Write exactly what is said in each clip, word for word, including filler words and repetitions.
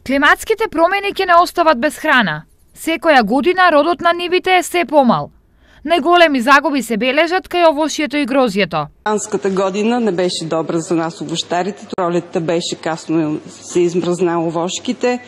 Климатските промени ќе не остават без храна. Секоја година родот на нивите е се помал. Најголеми загуби се бележат кај овошјето и грозјето. Анската година не беше добра за нас овощарите. Пролетта беше касно се измрзна овошките.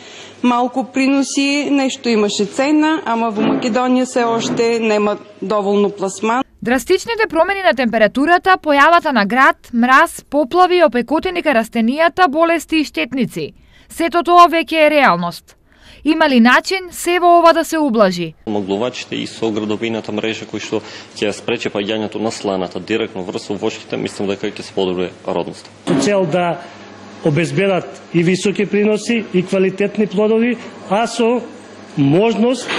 Малку приноси, нешто имаше цена, ама во Македонија се оште нема доволно пласман. Драстичните промени на температурата, појавата на град, мраз, поплави, опекотини кај растенијата, болести и штетници. Сето тоа веќе е реалност. Има ли начин се во ова да се ублажи? Моглувачите и со градовината мрежа кои што ќе ја спрече паѓањето на сланата директно врз овошките, мислам дека ќе се подобри родноста. Со цел да обезбедат и високи приноси и квалитетни плодови, а со можност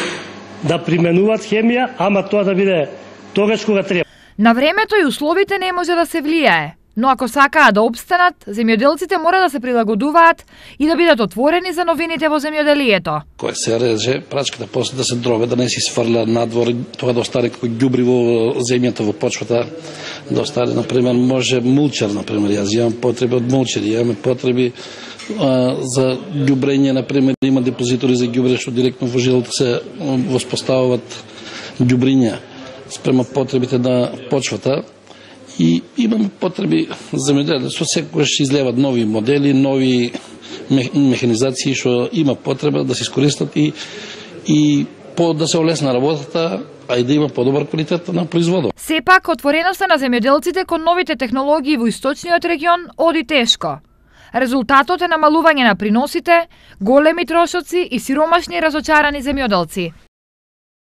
да применуваат хемија, ама тоа да биде тогаш кога треба. На времето и условите не може да се влијае, но ако сакаат да обстанат, земјоделците мора да се прилагодуваат и да бидат отворени за новините во земјоделието. Кој се реже, прачката после да се дробе, да не си сврля надвор, тоа да остане како ѓубри во земјата, во почвата, да остане, например, може мулчер, например, јас имам потреби од мулчери, имаме потреби а, за ѓубрење, например, има депозитори за ѓубре што директно во жилото се воспоставуваат ѓубриња спрема потребите на почвата. И имаме потреби за земјоделство, секогаш излеват нови модели, нови механизации што има потреба да се искористат и и по да се олесна работата, а и да има подобар квалитет на производот. Сепак отвореноста на земјоделците кон новите технологии во источниот регион оди тешко. Резултатот е намалување на приносите, големи трошоци и сиромашни разочарани земјоделци.